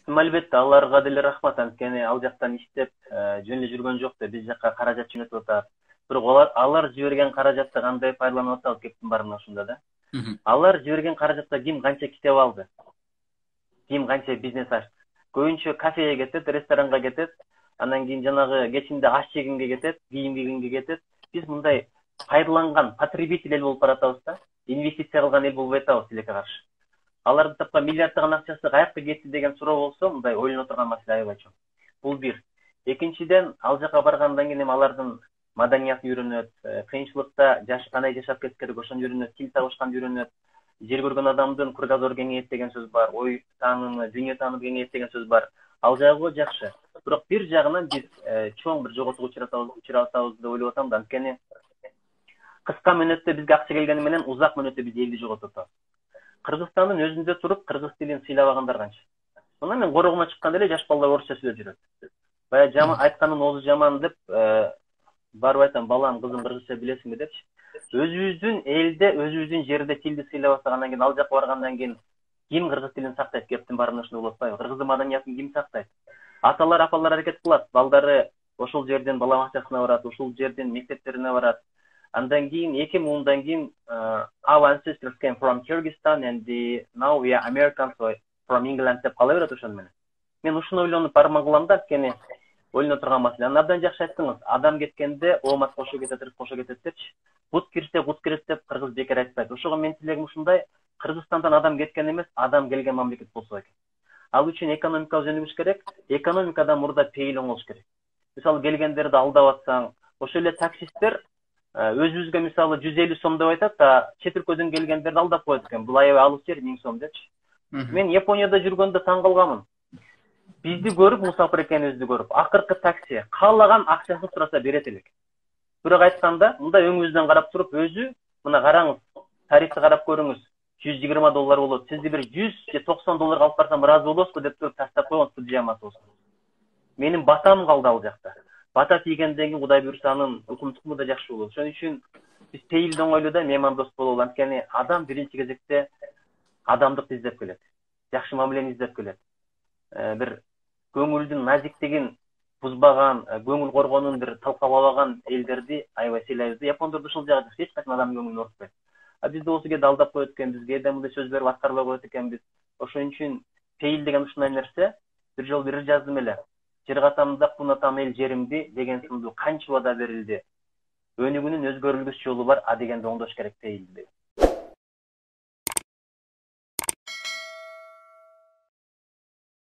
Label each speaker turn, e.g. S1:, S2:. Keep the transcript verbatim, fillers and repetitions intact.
S1: Албетте аларга деле рахмат, анткени ал жактан иштеп жөн эле жүргөн жок да, биз жакка каражат жөнөтүп атат. Бирок алар алар жиберген каражатты кандай пайдаланып атабыз кептин баарына ушунда да. Алар жиберген каражатта ким канча китеп алды, ким канча бизнес ачты. Көбүнчө кафеге кетет, ресторанга кетет, андан кийин жанагы кечинде аш жегенге кетет, кийим кийгенге кетет. Биз мындай пайдаланган потребитель эл болуп баратабыз да, инвестиция кылган эл болбой атабыз тилекке каршы. Алардын тапкан миллиарддаган акчасы каякка кетти деген суроо болсо, мындай ойлоно турган маселе аябай чоң. Бул бир. Экинчиден, ал жака баргандан кийин эми алардын маданиятын үйрөнөт, кыйынчылыкта жаш кандай жашап кетиш керек ошону үйрөнөт, тил табышканды үйрөнөт. Жер көргөн адамдын кругозору кеңейет деген сөз бар, ой таанымы, дүйнө таанымы кеңейет деген сөз бар. Ал жагы жакшы. Бирок бир жагынан биз чоң бир жоготууга учуратабыз, учуратабыз деп ойлоп атам да, анткени кыска мөөнөттө бизге акча келгени менен узак мөөнөттө биз элди жоготуп атабыз. Кыргызстандын өзүндө туруп кыргыз тилин сыйлабагандар канча. Мына мен корогума чыкканда эле жаш балдар орусча сүйлөп жүрөт. Бая жаман айтканын оозу жаман деп барып айтам, балам, кызым, кыргызча билесиңби депчи. Өзүбүздүн элде, өзүбүздүн жерде тилди сыйлабасак, андан кийин ал жака баргандан кийин ким кыргыз тилин сактайт? Кептин баарына ушуну болуп атпайбы? Кыргыздын маданиятын ким сактайт? Аталар, апалар аракет кылат, балдары ошол жерден бала бакчасына барат, ошол жерден мектептерине барат. Андан кийин эки миң ондан кийин our ancestors came from Kyrgyzstan and the, now we are Americans from England деп кала берет ошону менен. Мен ушуну ойлонуп бармак кылам да, анткени ойлоно турган маселе. Андан абдан жакшы айттыңыз. Адам кеткенде оомат кошо кетет, рызык кошо кетет депчи. Бут кирсе бут кирет деп кыргыз бекер айтпайт. Ошого мен тилегим ушундай, Кыргызстандан адам кеткен эмес, адам келген мамлекет болсо экен. Ал үчүн экономикабыз өнүгүш керек, экономикадан мурда пейил оңолуш керек. Мисалы келгендерди алдап атсаң, ошол эле таксисттер өзүбүзгө мисалы жүз элүү сом деп айтат да, чет өлкөдөн келгендерди алдап коет экен. Бул аябай алыс жер, миң сом депчи. Мен Японияда жүргөндө таң калганмын. Бизди көрүп, мусафир экенибизди көрүп, акыркы такси каалаган акчасын сураса берет элек. Бирок айтканда, мындай өңүбүздөн карап туруп, өзү, мына караңыз, тарифти карап көрүңүз, жүз жыйырма доллар болот. Сизди бир жүз же токсон долларга алып барсам ыраазы болосузбу деп туруп таштап койгон студиямасы болсун. Менин батам калды ал жакта. Бата тийгенден кийин Кудай буйрса анын укум тукуму да жакшы болот. Ошон үчүн биз пейилди оңойлуудай меймандос бололу. Анткени адам биринчи кезекте адамдыкты издеп келет. Жакшы мамилени издеп келет. Бир көңүлдүн назиктигин бузбаган, көңүл коргонун бир талкалабаган элдерди аябай сыйлайбыз. Япондордо ушул жагы эч качан адамдын көңүлүн орутпайт. А бизде болсо кээде алдап коет экенбиз, кээде мындай сөз берип аткарбай коет экенбиз. Ошон үчүн пейил деген ушундай нерсе. Бир жолу бир жаздым эле. Жер катамда кунатам эл жеримди деген сындуу канча убада берилди. Өнүгүүнүн өзгөрүлгүс жолу бар, а дегенди оңдош керек пейилди.